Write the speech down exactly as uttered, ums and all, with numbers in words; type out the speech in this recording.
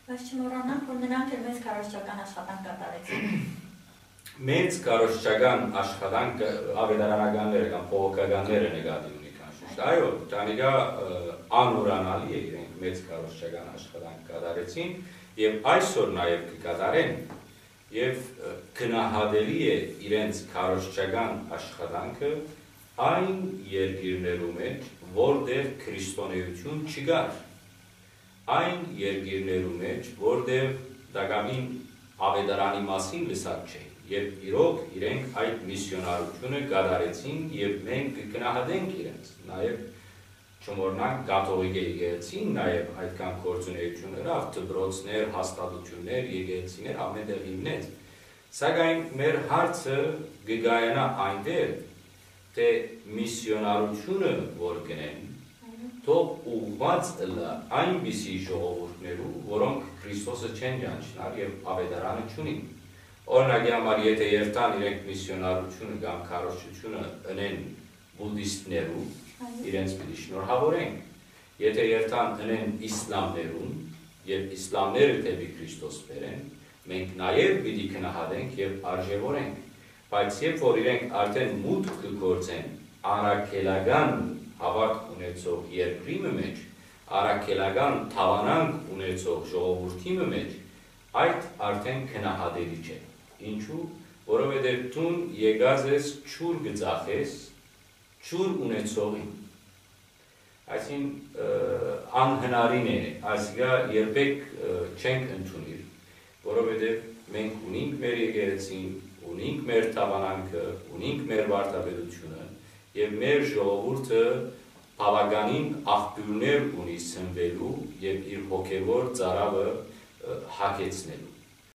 Բայց չմոռանանք, որ նրանք էլ մեծ քարոզչական աշխատանք կատարեցին։ Մեծ քարոզչական աշխատանքը ավետարանականները կամ բողոքականները նկատի ունի քանշուշտ։ Այո, տանիգա անուրանալի է, իրենք մեծ քարոզչական աշխատանք կատարեցին եւ այսօր նաեւ կկատարեն, եւ գնահատելի է իրենց քարոզչական աշխատանքը այն երկիրներու մէջ, որտեղ քրիստոնեություն չկար, այն երկիրներու մէջ, որտեղ տակամին ավետարանի մասին լսած չէին, եւ իրոք իրենք այդ միսիոնարությունը կատարեցին եւ մենք կգնահատենք իրենց։ Նաեւ չմոռնանք, կաթողիկէ եկեղեցին նաեւ այդքան գործունեություն ըրաւ, դպրոցներ, հաստատություններ, եկեղեցիներ, ամեն տեղ հիմնեց։ Սակայն մեր հարցը կկայանայ այնտեղ, թէ միսիոնարությունը որ կ'ընեն, թող ուղղուած ըլլայ այնպիսի ժողովուրդներու, որոնք Քրիստոսը չեն ճանչնար եւ ավետարանը չունին։ Օրինակի համար, եթէ երթան իրենք միսիոնարությունը կամ քարոզչությունը ընեն բուդիստներու, իրենց պիտի շնորհաւորենք։ Եթէ երթան ընեն իսլամներուն, եւ իսլամները դէպի Քրիստոս բերեն, մենք նաեւ պիտի գնահատենք եւ արժեւորենք։ Բայց երբ որ իրենք արդեն մուտք կը գործեն առաքելական հաւատք ունեցող երկրի մը մէջ, առաքելական դաւանանք ունեցող ժողովուրդի մը մէջ, այդ արդեն գնահատելի չէ։ Ինչու՞, որովհետեւ դուն եկած ես, ջուր կը ծախես ջուր ունեցողին։ Այսինքն, ը, անհնարին է, այսինքն երբեք, ը, չենք ընդունիր, որովհետեւ մենք ունինք մեր եկեղեցին, ունինք մեր դաւանանքը, ունինք մեր վարդապետությունը, եւ մեր ժողովուրդը բաւականին աղբիւրներ ունի սնուելու եւ իր հոգեւոր ծարաւը, ը, հագեցնելու։